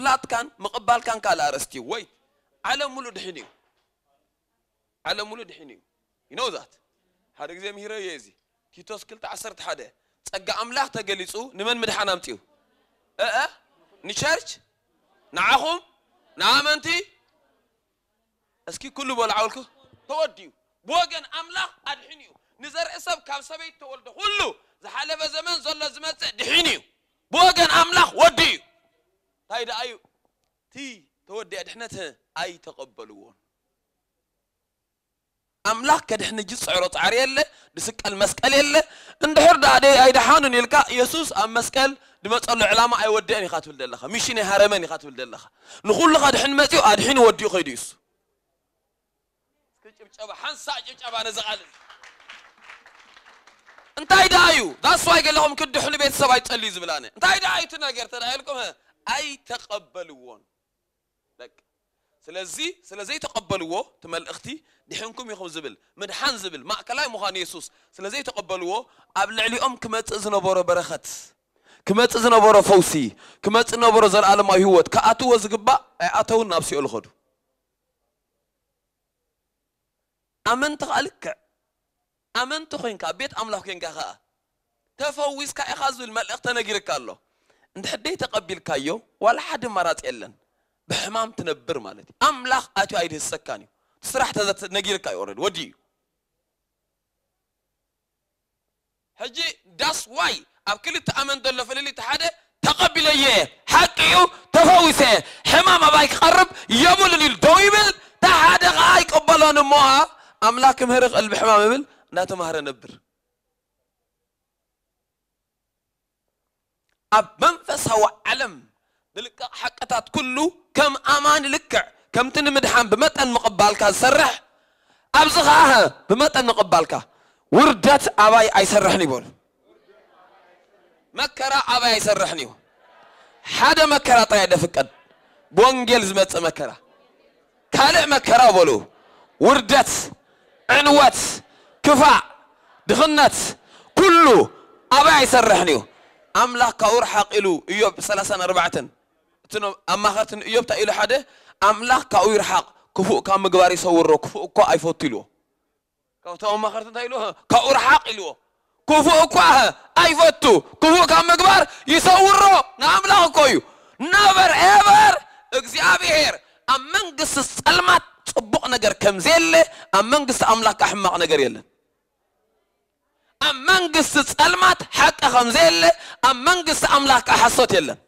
ምሕረትካን ምቕባልካን ካልእ ኣርእስቲ እዩ። ወይ ዓለም ሙሉእ ድሒኑ እዩ። ዓለም ሙሉእ ድሒኑ እዩ። You know that። ሓደ ግዜ ምሂረ እየ እዚ። ቲቶስ ክልተ ዓሰርተ ሓደ፣ ጸጋ ኣምላኽ ተገሊጹ ንመን ምድሓን ኣምጺኡ? እእ ንቸርች፣ ንዓኹም፣ ንኣመንቲ። እስኪ ኩሉ በሉ ዓውልኩ። ተወዲኡ። ብወገን ኣምላኽ ኣድሒኑ እዩ። ንዘርኢ ሰብ ካብ ሰበይቲ ተወልደ ኩሉ ዝሓለፈ ዘመን ዘሎ ዝመጽእ ድሒኑ እዩ። ብወገን ኣምላኽ ወዲ እዩ። እንታይ ደኣ እዩ? እቲ ተወዲኣ ድሕነት ኣይተቐበልዎን። ኣምላኽ ከድሕን እጅ ዝጽዕሮ ጻዕሪ የለ፣ ዝስቀል መስቀል የለ። እንድሕር ደኣ ደይ ኣይደሓኑን ኢልካ፣ የሱስ ኣብ መስቀል ድመጸሉ ዕላማ ኣይወደአን ኢኻ ትብል ዘለኻ፣ ሚሽን ኣይሃረመን ኢኻ ትብል ዘለኻ። ንኹሉ ከድሕን መጺኡ፣ ኣድሒኑ ወዲኡ ከይዱ እዩስ። እስኪ ጭብጨባ፣ ሓንሳእ ጭብጨባ ነዚ ቃል እዚ። እንታይ ደኣ እዩ? That's why ገለኹም ክድሕኑ ቤተሰብ ኣይትጸልዩ ዝብል ኣነ። እንታይ ደኣ እዩ እቲ ነገር ተደኣ ኢልኩም፣ ሀ፣ ኣይተቐበልዎን። በቃ። ስለዚ፣ ስለ ዘይተቐበልዎ፣ እቲ መልእኽቲ ድሒንኩም ኢኹም ዝብል፣ ምድሓን ዝብል፣ ማእከላይ ምዃን የሱስ ስለ ዘይተቐበልዎ፣ ኣብ ልዕሊኦም ክመጽእ ዝነበሮ በረኸት፣ ክመጽእ ዝነበሮ ፈውሲ፣ ክመጽእ ዝነበሮ ዘለኣለማዊ ህይወት፣ ክኣትዎ ዝግባእ ኣይኣተውን፣ ናብ ሲኦል ኸዱ። ኣመንቲ ኸኣ ልክዕ ኣመንቲ ኾይንካ፣ ኣብ ቤት ኣምላኽ ኾይንካ ኸኣ፣ ተፈዊስካ ኢኻ ዝብል መልእኽቲ ተነጊርካ ኣሎ። እንድሕር ደይ ተቐቢልካዮ፣ ዋላ ሓደ ኣማራጺ የለን። ብሕማም ትነብር ማለት እዩ። ኣምላኽ ኣትዩ ኣይድህሰካን እዩ። እቲ ስራሕ ተዘ-፣ ነጊርካ እዩ፣ ኦልሬዲ ወዲኡ እዩ። ሕጂ that's why ኣብ ክልተ ኣመንቲ ዘሎ ፍልልይ፣ እቲ ሓደ ተቐቢለዮ እየ፣ ሓቂ እዩ፣ ተፈዊሰ እየ፣ ሕማም ኣባይ ክቐርብ የብሉን ኢሉ ደው ይብል፣ እቲ ሓደ ኸኣ ኣይቅበሎን እሞ ኸኣ ኣምላኽ ክምህር ይኽእል ብሕማም ይብል፣ እናተማህረ ነብር። ኣብ መንፈሳዊ ዓለም ዝልቀቕ ሓቅታት ኩሉ ከም ኣማኒ ልክዕ ከምቲ ንምድሓን ብመጠን ምቕባልካ ዝሰርሕ፣ ኣብዚ ኸኣ ብመጠን ምቕባልካ ውርደት ኣባይ ኣይሰርሕን ይበሉ። መከራ ኣባይ ኣይሰርሕን እዩ። ሓደ መከራ ጥራይ ደፍቀድ፣ ብወንጌል ዝመጽእ መከራ። ካልእ መከራ በሉ፣ ውርደት፣ ዕንወት፣ ክፋእ፣ ድኽነት፣ ኩሉ ኣባይ ኣይሰርሕን እዩ። ኣምላኽ ካብኡ ርሓቕ ኢሉ፣ ኢዮብ ሰላሳን ኣርባዕተን፣ እቲ ኖ-፣ ኣማኸርቲ ንኢዮብ እንታይ ኢሉ ሓደ፣ ኣምላኽ ካብኡ ይርሓቕ፣ ክፉእ ካብ ምግባር ይሰውሮ፣ ክፉእ እኳ ኣይፈቱ ኢልዎ። ካብቶም ኣማኸርቲ እንታይ ኢልዎ? ካብኡ ርሓቕ ኢልዎ። ክፉእ እኳ ኣይፈቱ፣ ክፉእ ካብ ምግባር ይሰውሮ። ንኣምላኽ እኮ እዩ። ነቨር ኤቨር እግዚኣብሔር ኣብ መንግስቲ ጸልማት ጽቡቕ ነገር ከም ዘየለ፣ ኣብ መንግስቲ ኣምላኽ ከኣ ሕማቕ ነገር የለን። ኣብ መንግስቲ ጸልማት ሓቂ ከም ዘየለ፣ ኣብ መንግስቲ ኣምላኽ ከኣ ሓሶት የለን።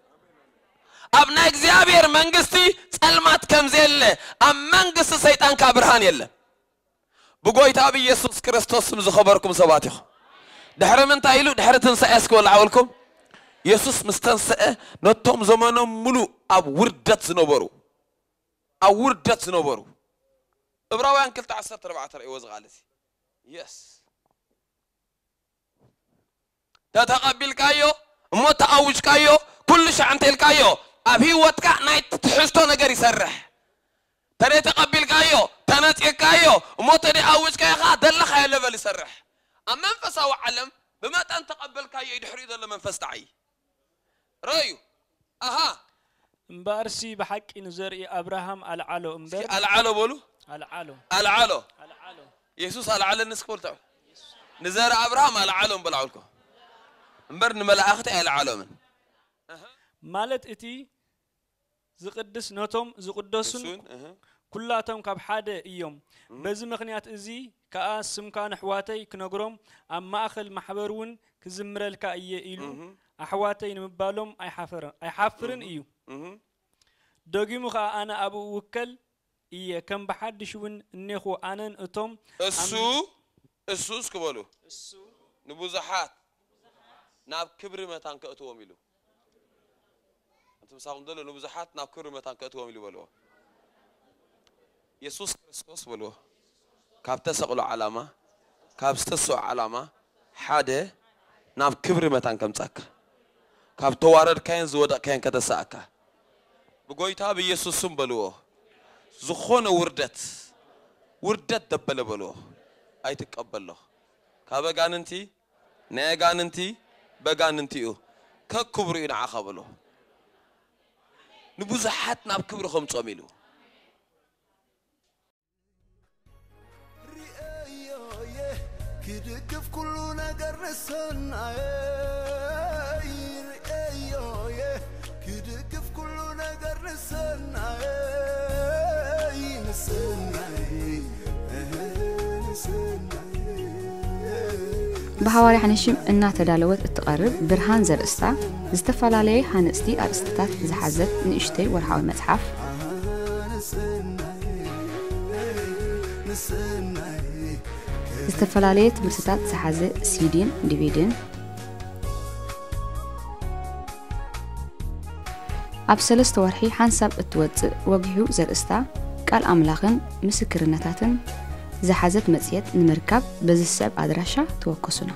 ኣብ ናይ እግዚኣብሔር መንግስቲ ጸልማት ከም ዘየለ፣ ኣብ መንግስቲ ሰይጣን ከኣ ብርሃን የለን። ብጎይታ ብኢየሱስ ክርስቶስ ስም ዝኸበርኩም ሰባት ኢኹም። ድሕሪ ምንታይ ኢሉ? ድሕሪ ትንሳኤ እስኪ በሉ ዓወልኩም። የሱስ ምስ ተንሰአ ነቶም ዘመኖም ሙሉእ ኣብ ውርደት ዝነበሩ፣ ኣብ ውርደት ዝነበሩ፣ ዕብራውያን ክልተ ዓሰርተ ኣርባዕተ ርእይዎ እዚ ቃል እዚ። የስ። ተተቐቢልካዮ እሞ ተኣውጅካዮ፣ ኩሉ ሻዕ እንተ ኢልካዮ፣ ኣብ ህይወትካ ናይ ትሕዝቶ ነገር ይሰርሕ። ተደይ ተቐቢልካዮ፣ ተነጺርካዮ፣ እሞ ተደይ ኣውጅካዮ ኸዓ ዘለኻዮ ለቨል ይሰርሕ። ኣብ መንፈሳዊ ዓለም ብመጠን ተቐበልካዮ እዩ ድሕሪኡ ዘሎ መንፈስ ተዓዪ። ረእዩ። ኣሃ። እምበኣርሲ ብሓቂ ንዘርኢ ኣብርሃም ኣልዓሎ እስኪ እምበር ኣልዓሎ በሉ። ኣልዓሎ። ኣልዓሎ። ኣልዓሎ። የሱስ ኣልዓለኒ እስኪ በሉ። ንዘርኢ ኣብርሃም ኣልዓሎም በሉ ዓውልኮ። እምበር ንመላእኽቲ ኣየልዓሎምን። ማለት እቲ ዝቕድስ ነቶም ዝቕደሱን እሱን፣ እህ። ኩላቶም ካብ ሓደ እዮም። እህ። በዚ ምኽንያት እዚ ከኣ ስምካ ንኣሕዋተይ ክነግሮም ኣብ ማእከል ማሕበር እውን ክዝምረልካ እየ ኢሉ እህ። ኣሕዋተይ ንምባሎም ኣይሓፈረ-፣ ኣይሓፍርን እህ። እዩ። እህ። ደጊሙ ከኣ ኣነ ኣብኡ እውከል እየ፣ ከም ብሓድሽ እውን እኔኹ ኣነን እቶም እሱ፣ ኣም-፣ እሱ እስኪ በሉ። እሱ ንብዙሓት ናብ ክብሪ መታን ከእትዎም ኢሉ። እቲ ምሳኹም ዘሎ ንብዙሓት ናብ ክብሪ መታን ከእትዎም ኢሉ በልዎ። የሱስ ክርስቶስ በልዎ። ካብ ተሰቕሎ ዓላማ፣ ካብ ዝተስኦ ዓላማ ሓደ ናብ ክብሪ መታን ከምጻካ፣ ካብ ተዋረድካዮን ዝወደቕካዮን ከተሳእካ፣ ብጎይታ ብኢየሱስ ስም በልዎ። ዝኾነ ውርደት፣ ውርደት ደበለ በልዎ። ኣይትቀበሎ። ካብ ኣጋንንቲ፣ ናይ ኣጋንንቲ፣ በጋንንቲ እዩ። ከክብሩ እዩ ንዓኻ በልዎ። ንብዙሓት ናብ ክብሪ ከምጾም ኢሉ። ክድግፍ ኩሉ ነገር ንሰናየይ ርእየዮየ ክድግፍ ኩሉ ነገር ንሰናየይ ንሰናየይ ንሰናየይ ብሃዋርያ ሓነሽም እናተዳለወት እትቐርብ ብርሃን ዘርእስታ ዝተፈላለየ ሃነፅቲ ኣርእስትታት ዝሓዘት ንእሽተይ ወርሓዊ መፅሓፍ ዝተፈላለየ ትምህርትታት ዝሓዘ ሲዲን ዲቪድን ኣብ ሰለስተ ወርሒ ሓንሳብ እትወፅእ ወጊሑ ዘርእስታ ቃል ኣምላኽን ምስክርነታትን ዝሓዘት መፅሄት ንምርካብ በዚ ሰብ ኣድራሻ ተወከሱና።